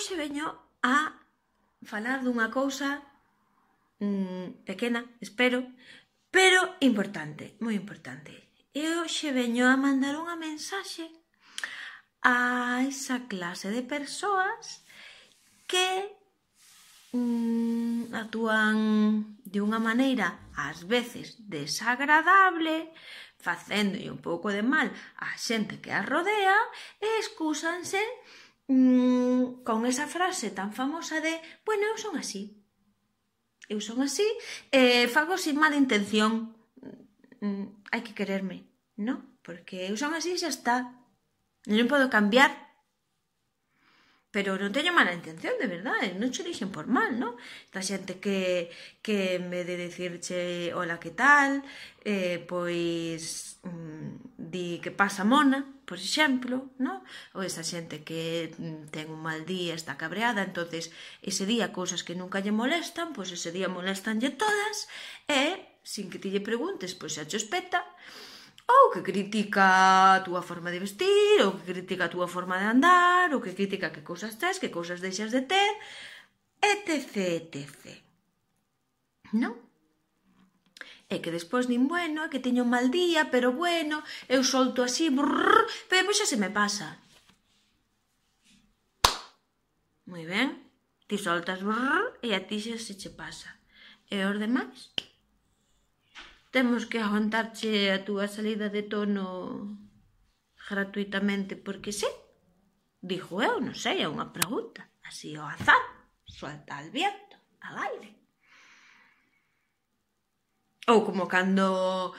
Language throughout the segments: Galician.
hoxe veño a falar dunha cousa pequena, espero, pero importante, moi importante. E hoxe veño a mandar unha mensaxe a esa clase de persoas que actúan de unha maneira ás veces desagradable, facéndolle un pouco de mal á xente que a rodea e excúsanse con esa frase tan famosa de bueno, eu son así e fago sin mala intención, hai que quererme, non? Porque eu son así e xa está, non podo cambiar. Pero non teño mala intención, de verdade, non che dixen por mal, non? Esta xente que en vez de dicirche hola, que tal, pois di que pasa mona, por exemplo, non? Ou esa xente que ten un mal día, está cabreada, entonces ese día cousas que nunca lle molestan, pois ese día molestanlle todas, e, sin que ti lle preguntes, pois xa che espeta, ou que critica a túa forma de vestir, ou que critica a túa forma de andar, ou que critica que cousas tes, que cousas deixas de ter, etc, etc. Non? E que despois din, bueno, que teño un mal día, pero bueno, eu solto así, brrr, pero pois xa se me pasa. Moi ben, ti soltas brrr, e a ti xa se che pasa. E os demais? Temos que aguantarche a túa salida de tono gratuitamente porque sí? Digo eu, non sei, é unha pregunta, así ao azar, suelta al viento, al aire. Ou como cando,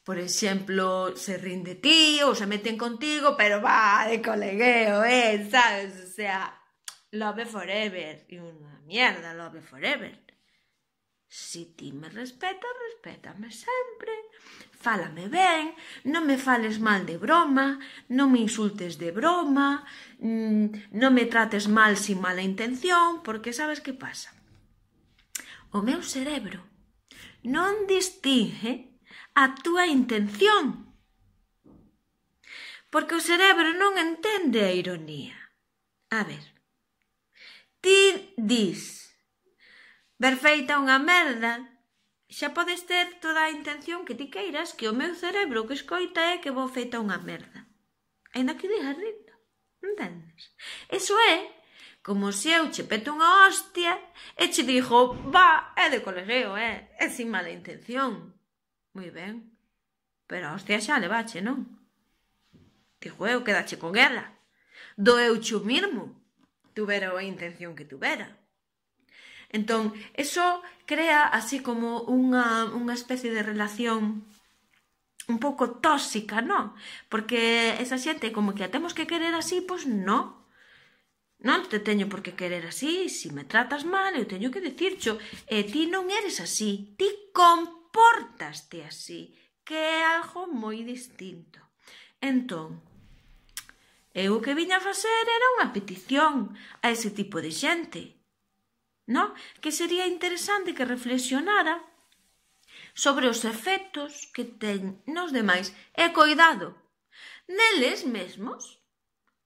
por exemplo, se rin de ti ou se meten contigo, pero va de colegueo, sabes? O sea, love forever, e unha mierda love forever. Si ti me respetas, respétame sempre, fálame ben, non me fales mal de broma, non me insultes de broma, non me trates mal sin mala intención, porque sabes que pasa? O meu cerebro non distingue a túa intención, porque o cerebro non entende a ironía. A ver, ti dis ver feita unha merda, xa podes ter toda a intención que ti queiras, que o meu cerebro que escoita é que vou feita unha merda. Ainda que digas lindo, entendes? Eso é como se eu che peto unha hostia e che digo, va, é de colegueo, é sin mala intención. Moi ben, pero a hostia xa levache, non? Digo eu, quedache con ela. Doeuche o mismo, tuvera a intención que tuvera. Entón, eso crea así como unha especie de relación un pouco tóxica, non? Porque esa xente como que a temos que querer así, pois non. Non te teño por que querer así, se me tratas mal, eu teño que dicircho, e ti non eres así, ti compórtaste así, que é algo moi distinto. Entón, eu o que viña a facer era unha petición a ese tipo de xente, non? Que sería interesante que reflexionara sobre os efectos que ten nos demais e, coidado, neles mesmos,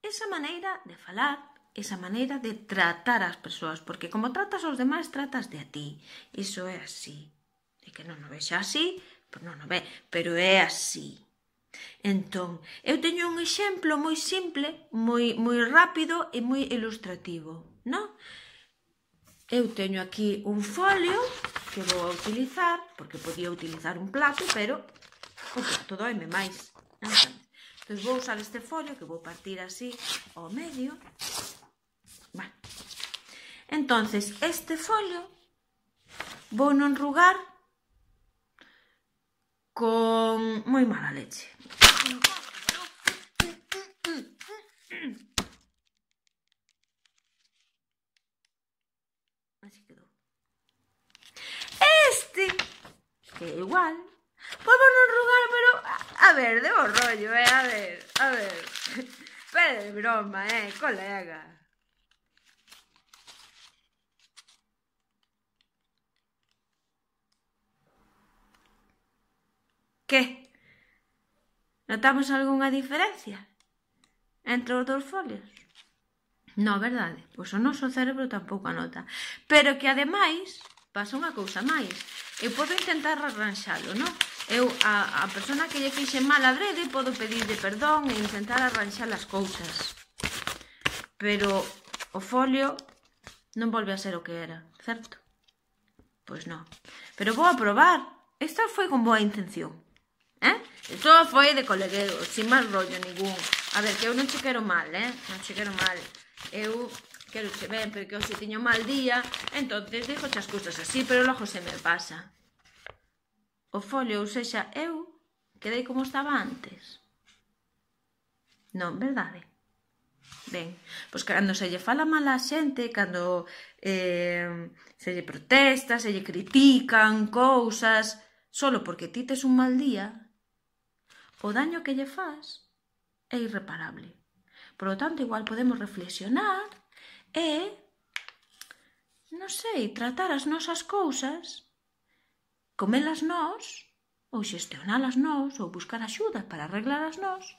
esa maneira de falar, esa maneira de tratar as persoas, porque como tratas aos demais, tratas de a ti. Iso é así. E que non o vexa así, pois non o ve, pero é así. Entón, eu teño un exemplo moi simple, moi rápido e moi ilustrativo, non? Eu teño aquí un folio que vou a utilizar, porque podía utilizar un plato, pero o plato doime máis. Entón, vou usar este folio que vou partir así ao medio. Entón, este folio vou non enrugar con moi mala leche. Así quedou. Este, que é igual, pois vou non enrugar, pero a ver, de bo rollo, a ver. Pero de broma, colega. Que? Notamos algunha diferencia entre os dous folios? No, verdade? Pois o noso cerebro tampouco anota. Pero que ademais pasa unha cousa máis. Eu podo intentar arranxalo, non? Eu, a persona que lle fixe mal adrede, podo pedirlle perdón e intentar arranxar as cousas. Pero o folio non volve a ser o que era, certo? Pois non. Pero vou a probar. Esta foi con boa intención. Isto foi de colegueo, sin mal rollo ningún. A ver, que eu non che quero mal, non che quero mal. Eu quero che ben, porque hoxe tiño mal día, entonces digo as cousas así, pero logo se me pasa. O folio, ou sexa, eu quedei como estaba antes. Non, verdade? Ben, pois cando se lle fala mal a xente, cando se lle protesta, se lle critican cousas, solo porque ti tes un mal día, o daño que lle faz é irreparable. Por lo tanto, igual podemos reflexionar e, non sei, tratar as nosas cousas, comelas nós, ou xestionalas nós, ou buscar axuda para arreglalas nós,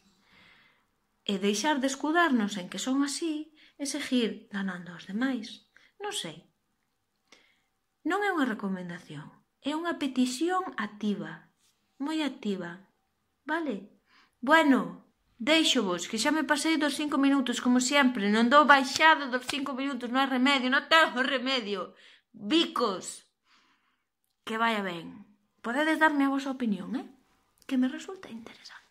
e deixar de escudarnos en que son así e seguir danando aos demais. Non sei. Non é unha recomendación, é unha petición activa, moi activa, vale? Bueno, deixo-vos, que xa me pasei dos 5 minutos, como sempre, non dou baixada dos 5 minutos, non hai remedio, non tengo remedio. Bicos, que vaya ben. Podedes darme a vosa opinión, que me resulta interesante.